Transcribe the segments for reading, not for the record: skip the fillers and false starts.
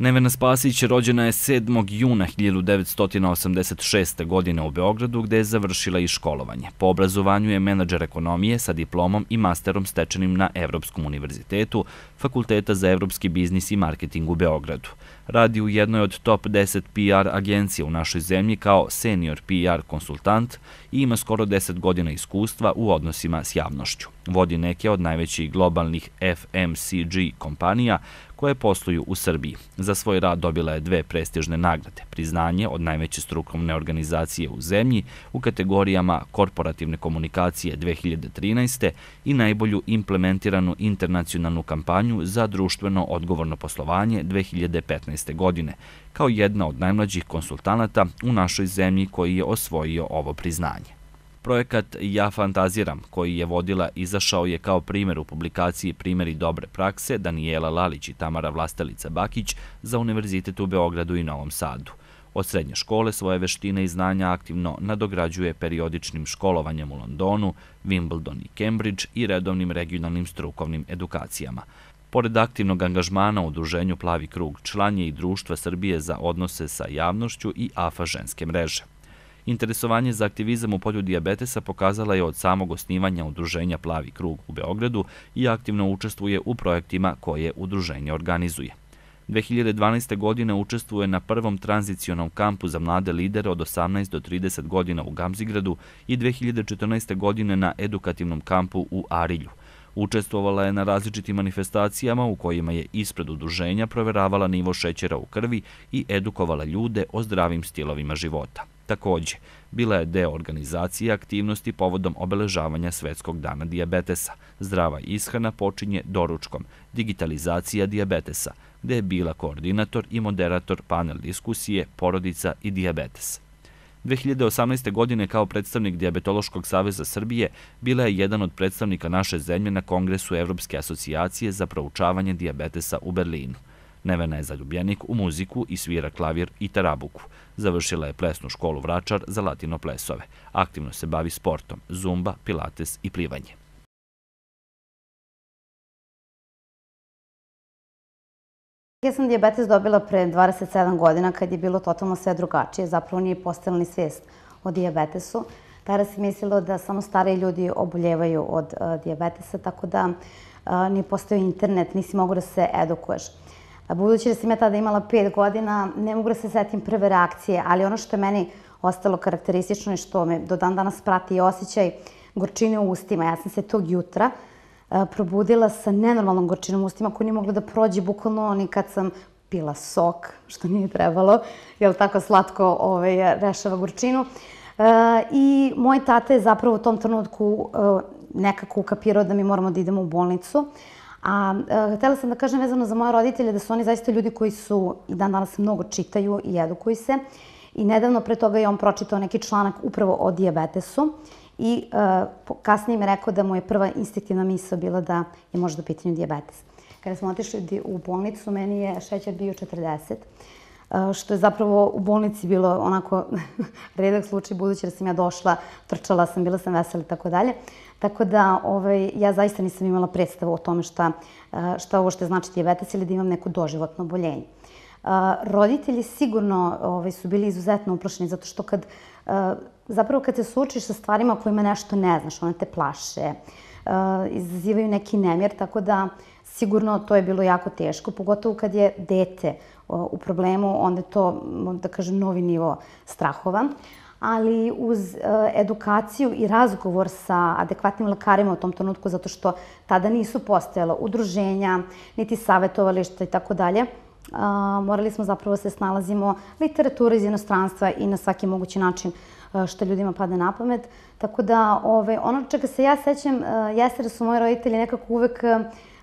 Nevena Spasić rođena je 7. juna 1986. godine u Beogradu, gde je završila i školovanje. Po obrazovanju je menadžer ekonomije sa diplomom i masterom stečenim na Evropskom univerzitetu, Fakulteta za evropski biznis i marketing u Beogradu. Radi u jednoj od top 10 PR agencija u našoj zemlji kao senior PR konsultant i ima skoro 10 godina iskustva u odnosima s javnošću. Vodi neke od najvećih globalnih FMCG kompanija koje posluju u Srbiji. Za svoj rad dobila je 2 prestižne nagrade, priznanje od najveće strukovne organizacije u zemlji u kategorijama korporativne komunikacije 2013. i najbolju implementiranu internacionalnu kampanju za društveno odgovorno poslovanje 2015. godine, kao jedna od najmlađih konsultanata u našoj zemlji koji je osvojio ovo priznanje. Projekat Ja fantaziram, koji je vodila, izašao je kao primjer u publikaciji Primjeri dobre prakse Danijela Lalić i Tamara Vlastelica-Bakić za Univerzitet u Beogradu i Novom Sadu. Od srednje škole svoje veštine i znanja aktivno nadograđuje periodičnim školovanjem u Londonu, Wimbledon i Cambridge i redovnim regionalnim strukovnim edukacijama. Pored aktivnog angažmana u udruženju Plavi krug, član je i Društva Srbije za odnose sa javnošću i AFA ženske mreže. Interesovanje za aktivizam u polju dijabetesa pokazala je od samog osnivanja udruženja Plavi krug u Beogradu i aktivno učestvuje u projektima koje udruženje organizuje. 2012. godine učestvuje na prvom tranzicionom kampu za mlade lidere od 18 do 30 godina u Gamzigradu i 2014. godine na edukativnom kampu u Arilju. Učestvovala je na različitim manifestacijama u kojima je ispred udruženja proveravala nivo šećera u krvi i edukovala ljude o zdravim stilovima života. Takođe, bila je deo organizacije aktivnosti povodom obeležavanja Svetskog dana dijabetesa. Zdrava ishrana počinje doručkom, digitalizacija dijabetesa, gde je bila koordinator i moderator panel diskusije Porodica i dijabetes. 2018. godine kao predstavnik Dijabetološkog saveza Srbije bila je jedan od predstavnika naše zemlje na Kongresu Evropske asocijacije za proučavanje dijabetesa u Berlinu. Nevena je zaljubljenik u muziku i svira klavir i tarabuku. Završila je plesnu školu Vračar za latino plesove. Aktivno se bavi sportom, zumba, pilates i plivanje. Ja sam dijabetes dobila pre 27 godina kad je bilo totalno sve drugačije. Zapravo nije postojala ni svest o dijabetesu. Tada se mislilo da samo stariji ljudi oboljevaju od dijabetesa, tako da nije postojao internet, nisi mogu da se edukuješ. Budući da sam ja tada imala 5 godina, ne mogu da se setim prve reakcije, ali ono što je meni ostalo karakteristično i što me do dan danas prati je osjećaj gorčine u ustima. Ja sam se tog jutra probudila sa nenormalnom gorčinom u ustima koja nije mogla da prođe bukvalno ni kad sam pila sok, što nije trebalo, jer tako slatko rešava gorčinu. I moj tata je zapravo u tom trenutku nekako ukapirao da mi moramo da idemo u bolnicu. A htela sam da kažem vezano za moje roditelje da su oni zaista ljudi koji su i dan danas mnogo čitaju i edukuju se. I nedavno pre toga je on pročitao neki članak upravo o dijabetesu i kasnije mi je rekao da mu je prva instinktivna misao bila da je možda u pitanju dijabetes. Kada smo otišli u bolnicu, meni je šećer bio 40, što je zapravo u bolnici bilo onako redak slučaj, budući da sam ja došla, trčala sam, bila sam vesela i tako dalje. Tako da ja zaista nisam imala predstavu o tome šta ovo što znači dijabetes ili da imam neko doživotno oboljenje. Roditelji sigurno su bili izuzetno uplašeni zato što zapravo kad se suočiš sa stvarima kojima nešto ne znaš, one te plaše, izazivaju neki nemir, tako da sigurno to je bilo jako teško, pogotovo kad je dete u problemu, onda je to, da kažem, novi nivo strahova. Ali uz edukaciju i razgovor sa adekvatnim lekarima u tom trenutku, zato što tada nisu postojala udruženja, niti savjetovališta i tako dalje, morali smo zapravo se snalazimo literatura iz inostranstva i na svaki mogući način što ljudima pada na pamet. Tako da ono čega se ja sećam jeste da su moji roditelji nekako uvek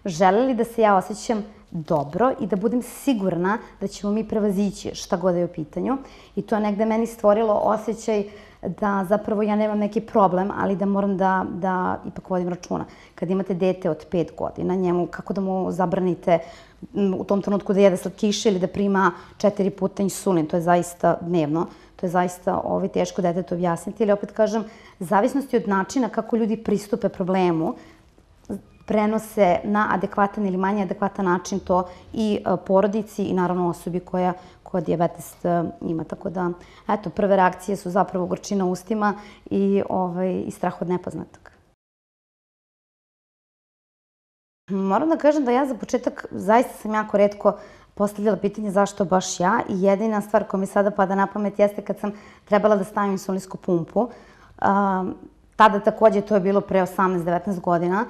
želeli da se ja osjećam dobro i da budem sigurna da ćemo mi prevazići šta god je u pitanju. I to je negde meni stvorilo osjećaj da zapravo ja nemam neki problem, ali da moram da ipak vodim računa. Kad imate dete od 5 godina, njemu kako da mu zabranite u tom trenutku da jede slatkiše ili da prima 4 puta insulin, to je zaista dnevno. To je zaista teško detetu objasniti, ali opet kažem, zavisnosti od načina kako ljudi pristupe problemu, prenose na adekvatan ili manje adekvatan način to i porodici i naravno osobi koja dijabetes ima. Tako da, eto, prve reakcije su zapravo gorčina u ustima i strah od nepoznatog. Moram da kažem da ja za početak zaista sam jako retko postavljala pitanje zašto baš ja i jedina stvar koja mi sada pada na pamet jeste kad sam trebala da stavim insulinsku pumpu. Tada takođe to je bilo pre 18-19 godina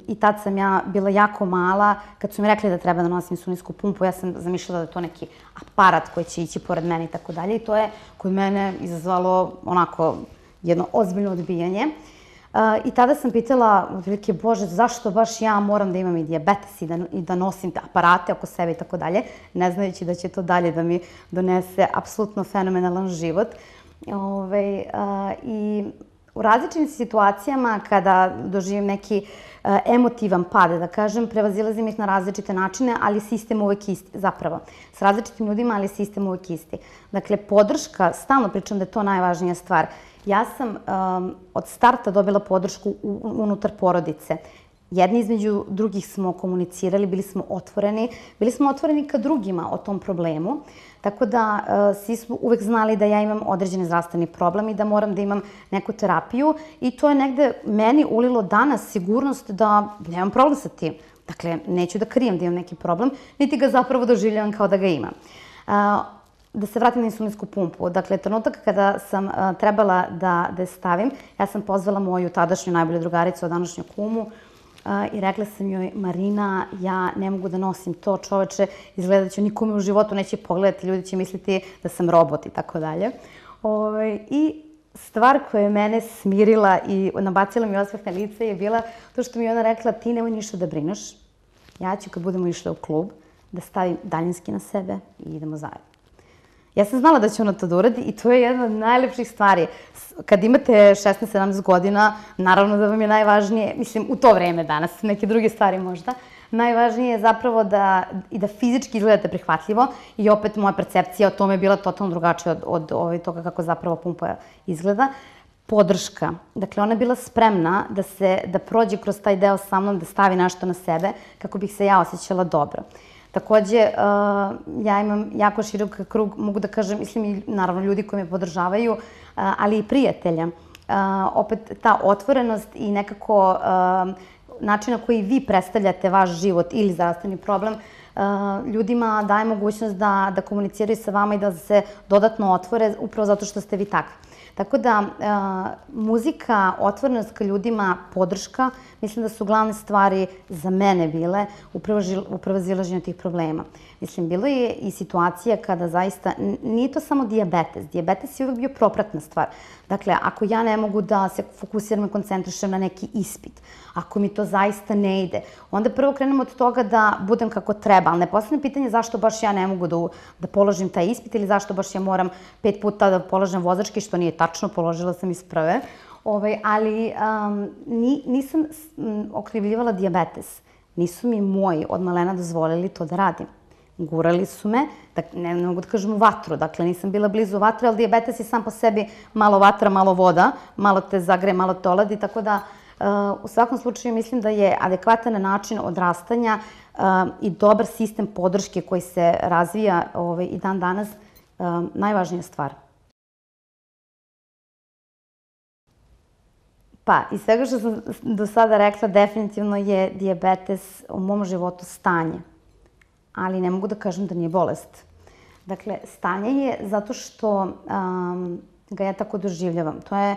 i tad sam ja bila jako mala. Kad su mi rekli da treba da nosim insulinsku pumpu, ja sam zamišljala da je to neki aparat koji će ići pored mene i tako dalje. I to je kod mene izazvalo onako jedno ozbiljno odbijanje. I tada sam pitala, otprilike, Bože, zašto baš ja moram da imam i dijabetes i da nosim te aparate oko sebe i tako dalje, ne znajući da će to dalje da mi donese apsolutno fenomenalan život. I u različitim situacijama kada doživim neki emotivan pad, da kažem, prevazilazim ih na različite načine, ali sistem uvek isti, zapravo. S različitim ljudima, ali sistem uvek isti. Dakle, podrška, stalno pričam da je to najvažnija stvar. Ja sam od starta dobila podršku unutar porodice. Jedni između drugih smo komunicirali, bili smo otvoreni ka drugima o tom problemu. Tako da svi smo uvek znali da ja imam određeni zdravstveni problem i da moram da imam neku terapiju i to je negde meni ulilo danas sigurnost da nemam problem sa tim. Dakle, neću da krijem da imam neki problem, niti ga zapravo doživljavam kao da ga imam. Da se vratim na insulinsku pumpu. Dakle, trenutak kada sam trebala da je stavim, ja sam pozvala moju tadašnju najbolju drugaricu, današnju kumu, i rekla sam joj, Marina, ja ne mogu da nosim to, čoveče, izgleda da ću nikome u životu neće pogledati, ljudi će misliti da sam robot i tako dalje. I stvar koja je mene smirila i nabacila mi osmeh na lice je bila to što mi je ona rekla, ti nemoj ništa da brineš, ja ću kad budemo išle u klub da stavim daljinski na sebe i idemo zajedno. Ja sam znala da će ona to da uradi i to je jedna od najlepših stvari. Kad imate 16-17 godina, naravno da vam je najvažnije, mislim, u to vreme danas, neke druge stvari možda, najvažnije je zapravo da fizički izgledate prihvatljivo i opet moja percepcija o tome je bila totalno drugačija od toga kako zapravo pumpa izgleda. Podrška. Dakle, ona je bila spremna da prođe kroz taj deo sa mnom, da stavi nešto na sebe kako bih se ja osjećala dobro. Takođe, ja imam jako širok krug, mogu da kažem, mislim i naravno ljudi koji me podržavaju, ali i prijatelja. Opet ta otvorenost i nekako način na koji vi predstavljate vaš život ili zdravstveni problem, ljudima daje mogućnost da komuniciraju sa vama i da se dodatno otvore upravo zato što ste vi takvi. Tako da, muzika, otvorenost ka ljudima, podrška, mislim da su glavne stvari za mene bile u prevazilaženju tih problema. Mislim, bilo je i situacija kada zaista, nije to samo dijabetes. Dijabetes je uvek bio propratna stvar. Dakle, ako ja ne mogu da se fokusiram i koncentrišem na neki ispit, ako mi to zaista ne ide, onda prvo krenem od toga da budem kako treba, ali ne postavljam pitanje zašto baš ja ne mogu da položim taj ispit ili zašto baš ja moram 5 puta da polažem vozački, što nije tačno, položila sam iz prve, ali nisam okrivljivala dijabetes. Nisu mi moji od malena dozvolili to da radim. Gurali su me, ne mogu da kažem u vatru, dakle nisam bila blizu vatre, ali dijabetes je sam po sebi malo vatra, malo voda, malo te zagreje, malo te oladi, tako da u svakom slučaju mislim da je adekvatan način odrastanja i dobar sistem podrške koji se razvija i dan danas najvažnija stvar. Pa, iz svega što sam do sada rekla, definitivno je dijabetes u mom životu stanje. Ali ne mogu da kažem da nije bolest. Dakle, stanje je zato što ga ja tako doživljavam. To je,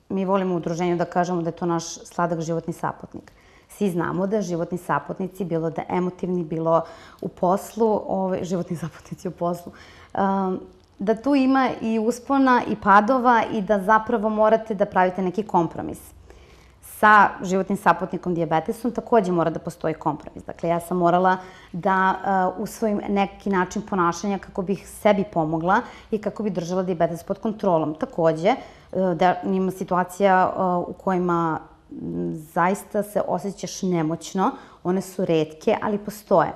mi volimo u udruženju da kažemo da je to naš sladak životni saputnik. Svi znamo da životni saputnici, bilo da emotivni, bilo u poslu, životni saputnici u poslu, da tu ima i uspona i padova i da zapravo morate da pravite neki kompromis. Sa životnim saputnikom dijabetesom takođe mora da postoji kompromis. Dakle, ja sam morala da usvojim neki način ponašanja kako bih sebi pomogla i kako bih držala dijabetes pod kontrolom. Takođe, da ima situacija u kojima zaista se osjećaš nemoćno, one su retke, ali postoje.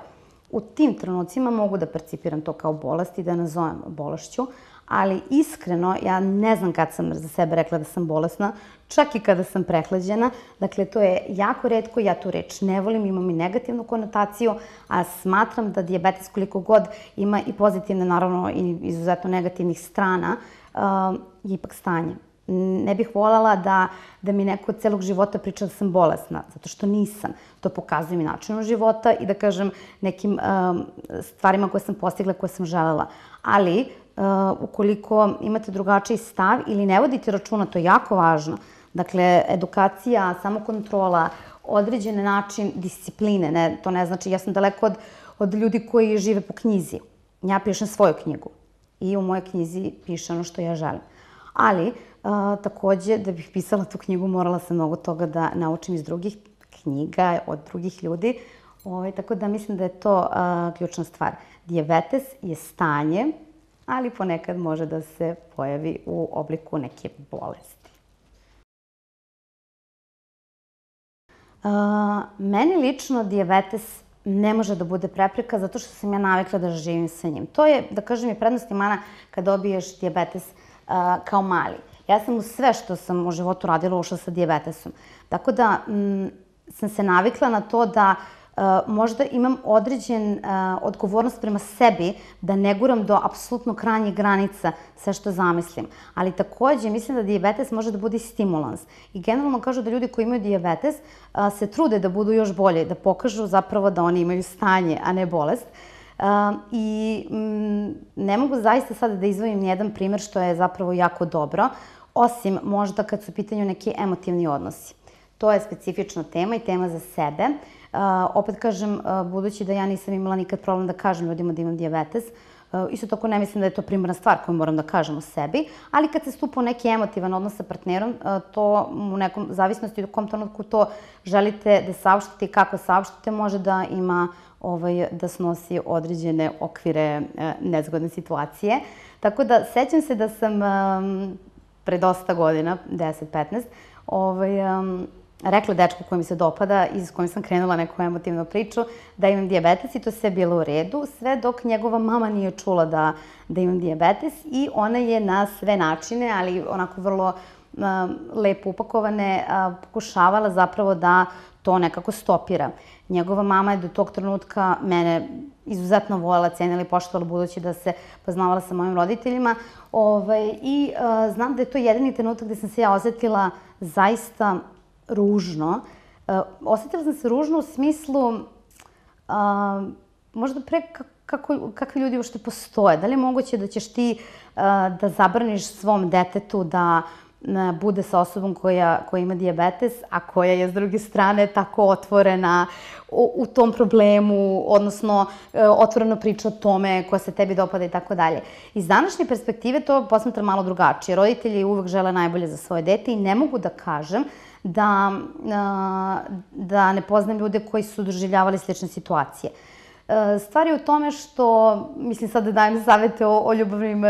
U tim trenucima mogu da percipiram to kao bolest i da nazovem bolešću, ali iskreno ja ne znam kad sam za sebe rekla da sam bolesna, čak i kada sam prehlađena. Dakle, to je jako retko, ja tu reč ne volim, imam i negativnu konotaciju, a smatram da dijabetes koliko god ima i pozitivne, naravno, i izuzetno negativnih strana, je ipak stanje. Ne bih voljela da mi neko od celog života priča da sam bolesna, zato što nisam. To pokazuje mi načinom života i da kažem nekim stvarima koje sam postigla, koje sam želela. Ali, ukoliko imate drugačiji stav ili ne vodite računa, to je jako važno. Dakle, edukacija, samokontrola, određen način discipline, to ne znači, ja sam daleko od ljudi koji žive po knjizi. Ja pišem svoju knjigu i u mojoj knjizi piše ono što ja želim. Ali, takođe, da bih pisala tu knjigu, morala sam mnogo toga da naučim iz drugih knjiga, od drugih ljudi. Tako da mislim da je to ključna stvar. Dijabetes je stanje, ali ponekad može da se pojavi u obliku neke bolesti. Meni lično dijabetes ne može da bude prepreka zato što sam ja navikla da živim sa njim. To je, da kažem, i prednost i mana kad dobiješ dijabetes kao mali. Ja sam u sve što sam u životu radila ušla sa dijabetesom. Tako da sam se navikla na to da možda imam određen odgovornost prema sebi da ne guram do apsolutno krajnjih granica sve što zamislim. Ali takođe mislim da dijabetes može da bude i stimulans. I generalno kažu da ljudi koji imaju dijabetes se trude da budu još bolje, da pokažu zapravo da oni imaju stanje, a ne bolest. I ne mogu zaista sada da izdvojim nijedan primer što je zapravo jako dobro, osim možda kad su u pitanju neki emotivni odnosi. To je specifična tema i tema za sebe. Opet kažem, budući da ja nisam imala nikad problem da kažem ljudima da imam dijabetes, isto tako ne mislim da je to primarna stvar koju moram da kažem o sebi, ali kad se stupa u neki emotivan odnos sa partnerom, to u nekom zavisnosti u kom trenutku to želite da saopštite i kako saopštite, može da ima da snosi određene okvire nezgodne situacije. Tako da, sećam se da sam pre dosta godina, 10-15, rekla dečku koji mi se dopada i s kojim sam krenula neku emotivnu priču da imam dijabetes i to sve bilo u redu, sve dok njegova mama nije čula da imam dijabetes i ona je na sve načine, ali onako vrlo lepo upakovane, pokušavala zapravo da to nekako stopira. Njegova mama je do tog trenutka mene izuzetno voljela, cenila i poštovala budući da se poznavala sa mojim roditeljima. I znam da je to jedini trenutak gde sam se ja osetila zaista ružno. Osetila sam se ružno u smislu možda pre kakvi ljudi uopšte postoje. Da li je moguće da ćeš ti da zabraniš svom detetu da bude sa osobom koja ima dijabetes, a koja je s druge strane tako otvorena u tom problemu, odnosno otvoreno priča o tome koja se tebi dopada i tako dalje. Iz današnje perspektive to posmatram malo drugačije. Roditelji uvek žele najbolje za svoje dete i ne mogu da kažem da ne poznam ljude koji su doživljavali slične situacije. Stvar je u tome što, mislim sad da dajem savete o ljubavnim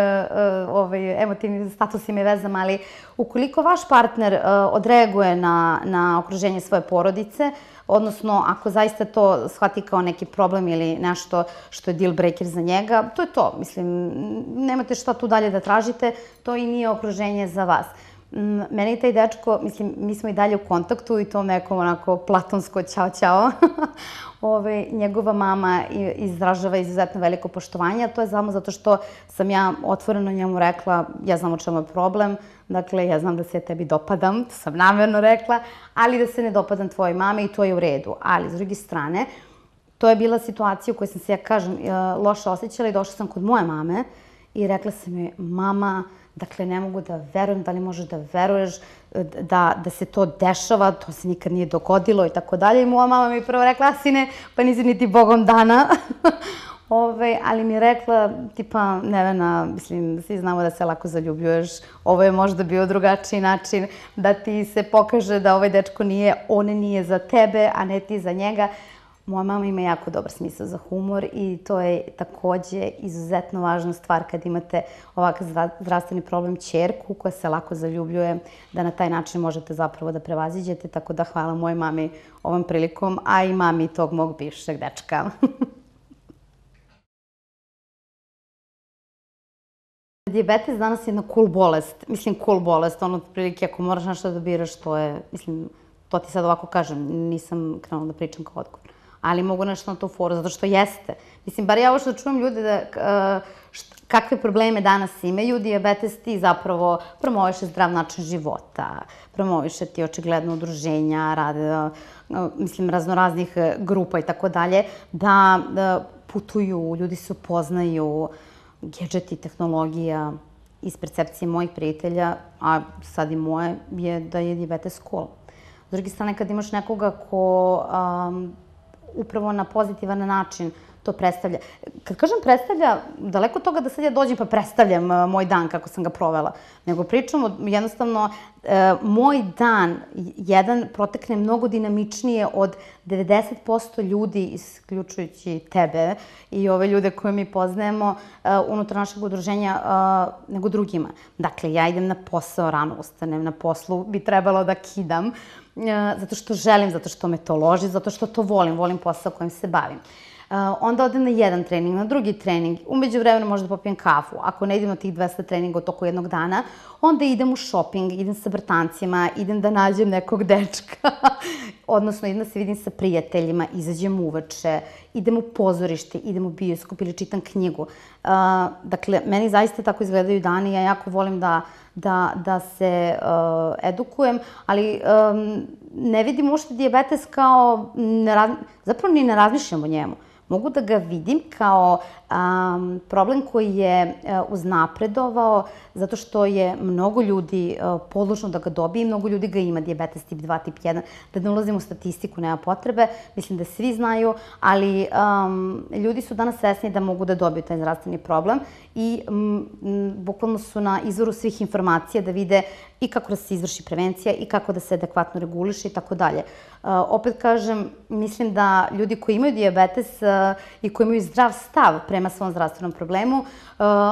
emotivnim statusima i vezama, ali ukoliko vaš partner odreaguje na okruženje svoje porodice, odnosno ako zaista to shvati kao neki problem ili nešto što je deal breaker za njega, to je to. Mislim, nemate šta tu dalje da tražite, to i nije okruženje za vas. Mene i taj dečko, mislim, mi smo i dalje u kontaktu i to nekom onako platonsko ćao ćao. Njegova mama izražava izuzetno veliko poštovanje, a to je samo zato što sam ja otvoreno njemu rekla, ja znam o čemu je problem, dakle, ja znam da se ja tebi dopadam, to sam namerno rekla, ali da se ne dopadam tvojoj mami i to je u redu. Ali, s druge strane, to je bila situacija u kojoj sam se, ja kažem, loše osjećala i došla sam kod moje mame i rekla sam joj, mama, dakle, ne mogu da verujem, da li možeš da veruješ da se to dešava, to se nikad nije dogodilo i tako dalje. I moja mama mi je prvo rekla, sine, pa nisi niti Bogom dana. Ali mi je rekla, tipa, Nevena, mislim, svi znamo da se lako zaljubljuješ, ovo je možda bio drugačiji način da ti se pokaže da ovaj dečko on nije za tebe, a ne ti za njega. Moja mama ima jako dobar smisao za humor i to je takođe izuzetno važna stvar kad imate ovakav zdravstveni problem, ćerku koja se lako zaljubljuje, da na taj način možete zapravo da prevaziđete, tako da hvala mojoj mami ovom prilikom, a i mami tog mog bivšeg dečka. Dijabetes danas je jedna cool bolest. Mislim, cool bolest, ono, otprilike, ako moraš nešto da biraš, to je, mislim, to ti sad ovako kažem, nisam krenula da pričam kao odgovor. Ali mogu nešto na to foru, zato što jeste. Mislim, bar ja ovo što čujem ljude da kakve probleme danas imaju, dijabetes ti zapravo promoviše zdrav način života, promoviše ti očigledno udruženja, rade, mislim, raznoraznih grupa i tako dalje, da putuju, ljudi se upoznaju, gadgeti, tehnologija, iz percepcije mojih prijatelja, a sad i moje, je da je dijabetes cool. S druge strane, kad imaš nekoga ko upravo na pozitivan način to predstavlja. Kad kažem predstavlja, daleko od toga da sad ja dođem pa predstavljam moj dan kako sam ga provela, nego pričam jednostavno moj dan jedan protekne mnogo dinamičnije od 90% ljudi, isključujući tebe i ove ljude koje mi poznajemo unutar našeg udruženja, nego drugima. Dakle, ja idem na posao, rano ustanem, na poslu bi trebalo da kidam, zato što želim, zato što me to loži, zato što to volim posao kojim se bavim. Onda odem na jedan trening, na drugi trening, umeđu vremena možda popijem kafu. Ako ne idem na tih 200 treninga u toku jednog dana, onda idem u shopping, idem sa bratancima, idem da nađem nekog dečka, odnosno idem da se vidim sa prijateljima, izađem uveče, idem u pozorište, idem u bioskop ili čitam knjigu. Dakle, meni zaista tako izgledaju dani, ja jako volim da se edukujem, ali ne vidim uopšte dijabetes kao, zapravo ni ne razmišljam o njemu. Mogu da ga vidim kao problem koji je uznapredovao zato što je mnogo ljudi podložno da ga dobije i mnogo ljudi ga ima, dijabetes tip 2, tip 1. Da ne ulazim u statistiku, nema potrebe, mislim da svi znaju, ali ljudi su danas svesni da mogu da dobiju taj zdravstveni problem i bukvalno su na izvoru svih informacija da vide i kako da se izvrši prevencija i kako da se adekvatno reguliše i tako dalje. Opet kažem, mislim da ljudi koji imaju dijabetes i koji imaju zdrav stav prema svom zdravstvenom problemu,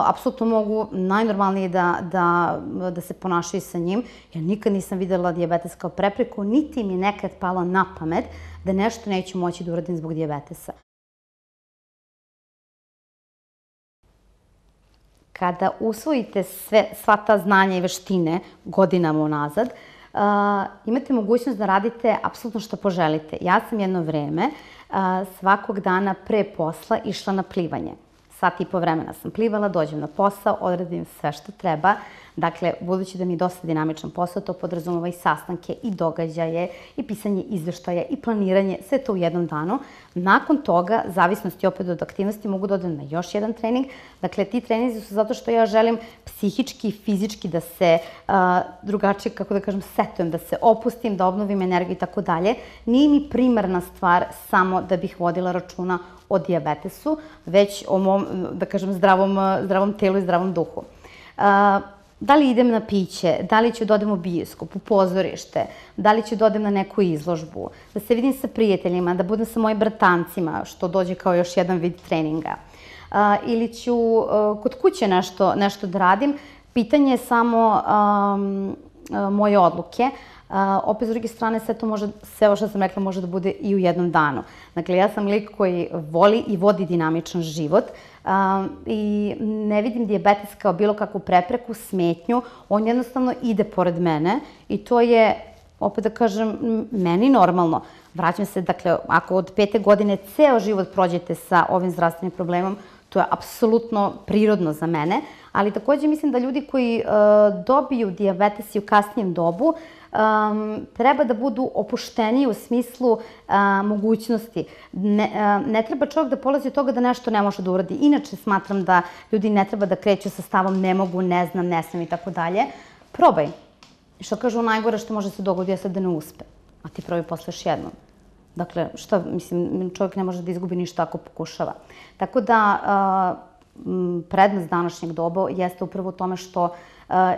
apsolutno mogu najnormalnije da se ponašaju sa njim, jer nikad nisam videla dijabetes kao prepreku, niti mi je nekad palo na pamet da nešto neću moći da uradim zbog dijabetesa. Kada usvojite sva ta znanja i veštine godinama unazad, imate mogućnost da radite apsolutno što poželite. Ja sam jedno vreme svakog dana pre posla išla na plivanje. Sat i po vremena sam plivala, dođem na posao, odradim sve što treba. Dakle, budući da mi je dosta dinamičan posao, to podrazumeva i sastanke, i događaje, i pisanje izveštaja, i planiranje, sve to u jednom danu. Nakon toga, zavisnosti opet od aktivnosti, mogu da odem na još jedan trening. Dakle, ti treninzi su zato što ja želim psihički i fizički da se drugačije, kako da kažem, setujem, da se opustim, da obnovim energiju i tako dalje. Nije mi primarna stvar samo da bih vodila računa o dijabetesu, već o mom, da kažem, zdravom telu i zdravom duhu. Da li idem na piće, da li ću da odem u bioskop, u pozorište, da li ću da odem na neku izložbu, da se vidim sa prijateljima, da budem sa mojim bratancima, što dođe kao još jedan vid treninga. Ili ću kod kuće nešto da radim, pitanje je samo moje odluke. Opet, s druge strane, sve ovo što sam rekla može da bude i u jednom danu. Dakle, ja sam lik koji voli i vodi dinamičan život i ne vidim dijabetes kao bilo kakvu prepreku, smetnju. On jednostavno ide pored mene i to je, opet da kažem, meni normalno. Vraćam se, dakle, ako od 5. godine ceo život prođete sa ovim zdravstvenim problemom, to je apsolutno prirodno za mene, ali takođe mislim da ljudi koji dobiju dijabetes i u kasnijem dobu treba da budu opušteniji u smislu mogućnosti. Ne treba čovjek da polazi od toga da nešto ne može da uradi. Inače smatram da ljudi ne treba da kreću sa stavom ne mogu, ne znam, ne smem i tako dalje. Probaj. Što kažu, najgore što može se dogoditi jeste da ne uspe, a ti probaj posle još jednom. Dakle, šta, mislim, čovjek ne može da izgubi ništa ako pokušava. Tako da, prednost današnjeg doba jeste upravo u tome što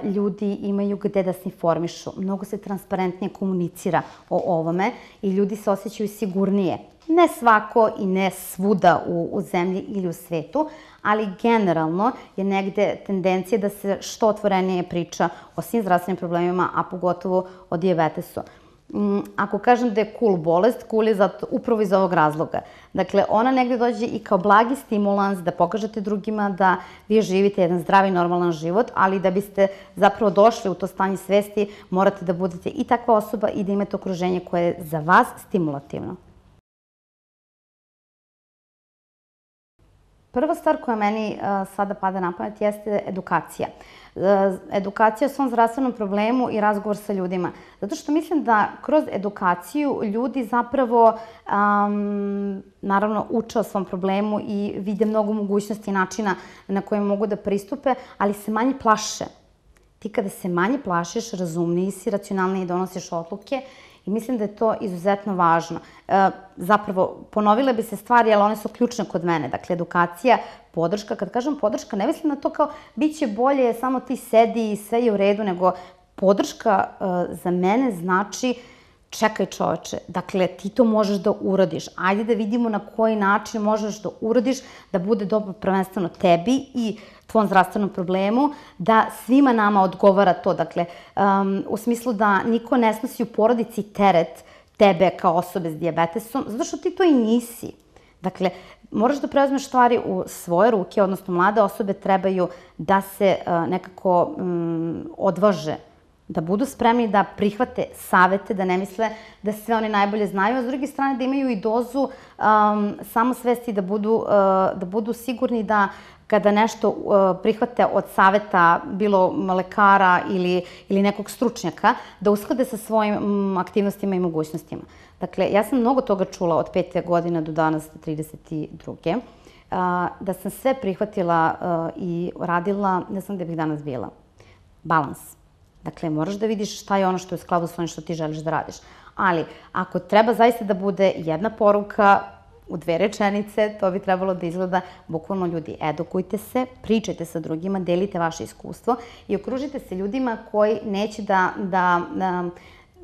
ljudi imaju gde da se informišu. Mnogo se transparentnije komunicira o ovome i ljudi se osjećaju sigurnije. Ne svako i ne svuda u zemlji ili u svetu, ali generalno je negde tendencija da se što otvorenije priča o svim zdravstvenim problemima, a pogotovo o dijabetesu. Ako kažem da je cool bolest, cool je upravo iz ovog razloga. Dakle, ona negde dođe i kao blagi stimulans da pokažete drugima da vi živite jedan zdravi, normalan život, ali da biste zapravo došli u to stanje svesti, morate da budete i takva osoba i da imate okruženje koje je za vas stimulativno. Prva stvar koja meni sada pada na pamet jeste edukacija. Edukacija o svom zdravstvenom problemu i razgovor sa ljudima. Zato što mislim da kroz edukaciju ljudi zapravo, naravno, uče o svom problemu i vide mnogo mogućnosti i načina na koje mogu da pristupe, ali se manje plaše. Ti kada se manje plašiš, razumniji si, racionalniji donosiš odluke i mislim da je to izuzetno važno. Zapravo, ponovile bi se stvari, ali one su ključne kod mene. Dakle, edukacija, podrška. Kad kažem podrška, ne mislim na to kao bit će bolje, samo ti sedi i sve je u redu, nego podrška za mene znači čekaj čoveče, dakle ti to možeš da uradiš. Ajde da vidimo na koji način možeš da uradiš da bude dobro prvenstveno tebi i tvom zdravstvenom problemu, da svima nama odgovara to. Dakle, u smislu da niko ne snosi u porodici teret tebe kao osobe s dijabetesom, zato što ti to i nisi. Dakle, moraš da preuzmeš stvari u svoje ruke, odnosno mlade osobe trebaju da se nekako odvaže, da budu spremni da prihvate savete, da ne misle da sve oni najbolje znaju, a s druge strane da imaju i dozu samosvesti, da budu sigurni da kada nešto prihvate od saveta, bilo lekara ili nekog stručnjaka, da usklade sa svojim aktivnostima i mogućnostima. Dakle, ja sam mnogo toga čula od 5. godina do danas, 32. Da sam sve prihvatila i radila, ne znam gde bih danas bila. Balans. Dakle, moraš da vidiš šta je ono što je u skladu s onim što ti želiš da radiš. Ali, ako treba zaista da bude jedna poruka u 2 rečenice, to bi trebalo da izgleda bukvalno ljudi. Edukujte se, pričajte sa drugima, delite vaše iskustvo i okružite se ljudima koji neće da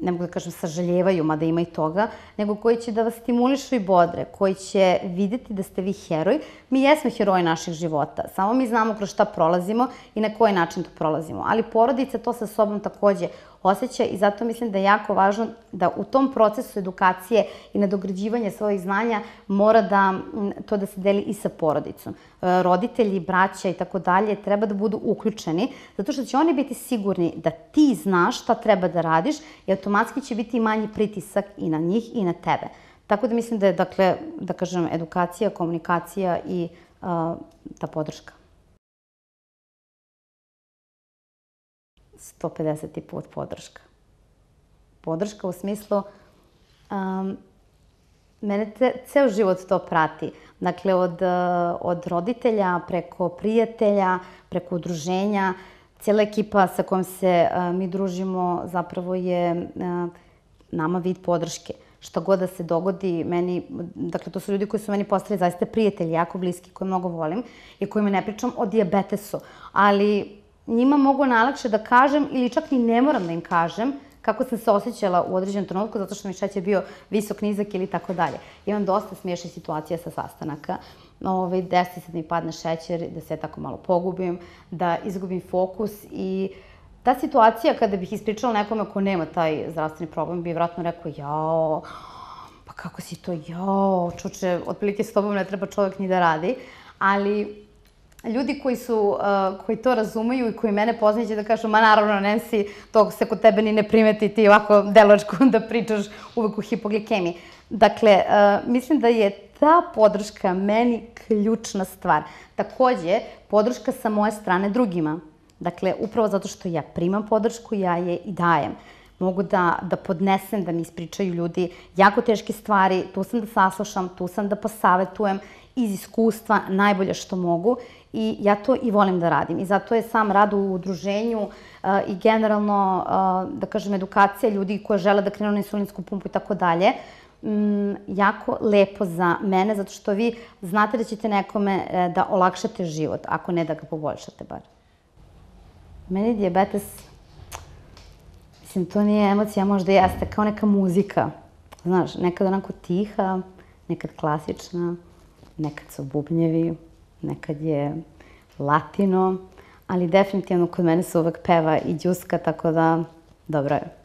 ne mogu da kažem sažaljevaju, mada ima i toga, nego koji će da vas stimulišu i bodre, koji će videti da ste vi heroj. Mi jesmo heroji naših života, samo mi znamo kroz šta prolazimo i na koji način to prolazimo. Ali porodica to sa sobom takođe osjeća i zato mislim da je jako važno da u tom procesu edukacije i nadograđivanja svojih znanja mora to da se deli i sa porodicom. Roditelji, braća i tako dalje treba da budu uključeni, zato što će oni biti sigurni da ti znaš šta treba da radiš i automatski će biti manji pritisak i na njih i na tebe. Tako da mislim da je, dakle, da kažem, edukacija, komunikacija i ta podrška. 150. put podrška. Podrška u smislu, mene ceo život to prati. Dakle, od roditelja, preko prijatelja, preko udruženja, cijela ekipa sa kojom se mi družimo zapravo je nama vid podrške. Šta god da se dogodi, meni, dakle, to su ljudi koji su meni postali zaista prijatelji, jako bliski, koje mnogo volim i kojima ne pričam o dijabetesu, ali njima mogu najlakše da kažem ili čak ni ne moram da im kažem kako sam se osjećala u određenom trenutku zato što mi šećer bio visok, nizak ili tako dalje. Imam dosta smiješnih situacija sa sastanaka. Desi se da mi padne šećer, da se tako malo pogubim, da izgubim fokus i ta situacija kada bih ispričala nekome ko nema taj zdravstveni problem bi vjerojatno rekao jao, pa kako si to, jao, čuče, otprilike s tobom ne treba čovjek ni da radi, ali ljudi koji to razumeju i koji mene poznaju će da kažu, ma naravno, Nancy, to se kod tebe ni ne primeti, ti ovako deluješ da pričaš uvek u hipoglikemiji. Dakle, mislim da je ta podrška meni ključna stvar. Takođe, podrška sa moje strane drugima. Dakle, upravo zato što ja primam podršku, ja je i dajem. Mogu da podnesem, da mi ispričaju ljudi jako teške stvari, tu sam da saslušam, tu sam da posavetujem iz iskustva najbolje što mogu i ja to i volim da radim. I zato je sam rad u udruženju i generalno, da kažem, edukacija ljudi koji žele da krenu na insulinsku pumpu i tako dalje, jako lepo za mene, zato što vi znate da ćete nekome da olakšate život, ako ne da ga poboljšate bar. Meni dijabetes, mislim, to nije emocija, možda jeste, kao neka muzika. Znaš, nekad onako tiha, nekad klasična, nekad su bubnjevi, nekad je latino, ali definitivno kod mene se uvek peva i đuska, tako da dobro je.